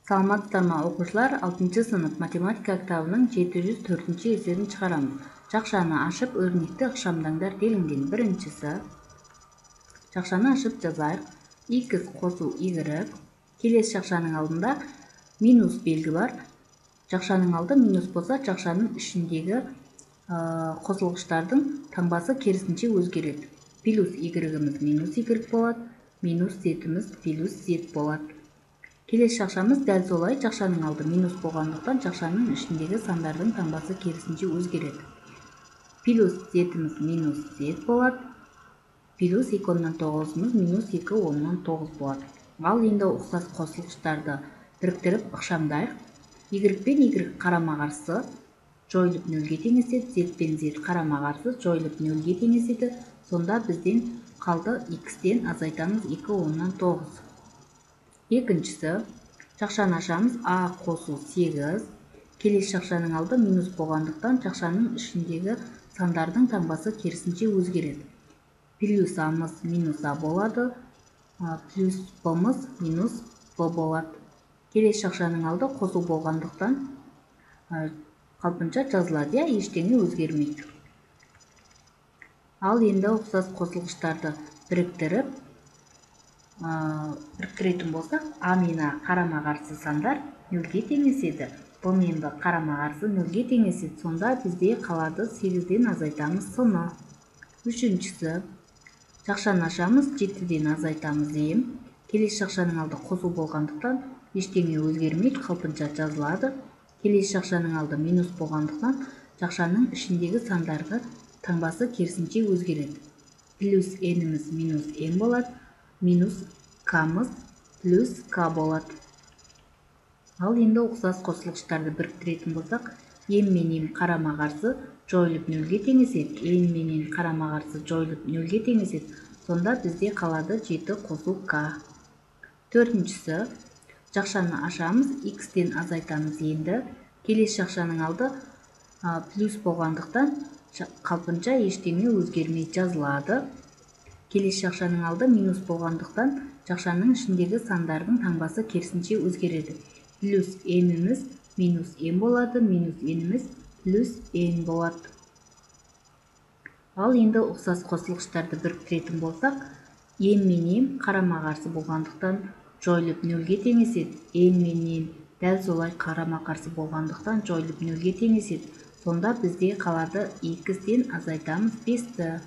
Саламатсыздарбы окуучулар, 6-сынып математика китабынын 704-эсебин чыгарамыз. Жакшаны ашып өрнекти ыкшамдаңдар делинген. Биринчиси жакшаны ашып жазайык. X косуу Y. Келесі жакшанын алдында минус белги бар. Жакшанын алды минус болсо, жакшанын ичиндеги косулгучтардын таңбасы керисинче өзгөрөт. Плюс Y-imiz минус Y болот, минус Z-imiz плюс Z болот. Келесі жакшамыз дәл солай. Жакшанын алды минус болгондуктан жакшанын ичиндеги сандардын таңбасы керисинче өзгөрөт. Плюс Z-imiz минус Z болот. Плюс 2/9 минус 2/9 болот. Ал эми уксас косулгучтарды бириктирип ыкшамдайык. Y пен Y карама каршы жоюлуп нөлгө теңесет, Z пен Z карама каршы жоюлуп нөлгө теңесет. Сонда бизден калды X'тен азайтамыз 2/9. Экинчиси жакшаны ашамыз. А косуу 8. Келесі жакшанын алды минус болгондуктан жакшанын ичиндеги сандардын таңбасы керисинче өзгөрөт. Плюс A'мыз минус А болот, плюс B'мыз минус Б болот. Келесі жакшанын алды косуу болгондуктан калпынча жазылат, эчтене өзгөрмөйт. Ал эми уксас косулгучтарды бириктирip бириктиретін болсак, А менен А карама каршы сандар нөлгө теңесет, Б менен Б карама каршы нөлгө теңесет. Сонда бизде калады 8ден азайтамыз сыны. Үчүнчүсү жакшаны ашамыз, 7ден азайтамыз эм. Келесі жакшанын алды косуу болгондуктан эчтене өзгөрмөйт, калпынча жазылады. Келесі жакшанын алды минус болгондуктан жакшанын ичиндеги сандардын таңбасы керисинче өзгөрөт. Плюс N'imiz минус N болот, минус K'мыз плюс K болот. Ал эми уксас косулгучтарды бириктиретін болсак, М менен карама каршы жоюлуп нөлгө теңесет, N менен карама каршы жоюлуп нөлгө теңесет. Сонда бизде калады 7 косуу K. Төртүнчүсү жакшаны ашамыз, X'тен азайтамыз энди. Келесі жакшанын алды плюс болгондуктан калпынча эчтене өзгөрмөй жазылады. Келесі жакшанын алды минус болгондуктан жакшанын ичиндеги сандардын таңбасы керисинче өзгөрөт. Плюс N'imiz минус N болот, минус N'imiz плюс N болот. Ал эми уксас косулгучтарды бириктиретін болсак, М менен карама каршы болгондуктан жоюлуп нөлгө теңесет, N менен дәл солай карама каршы болгондуктан жоюлуп нөлгө теңесет. Сонда бизде калады X'тен азайтамыз 5.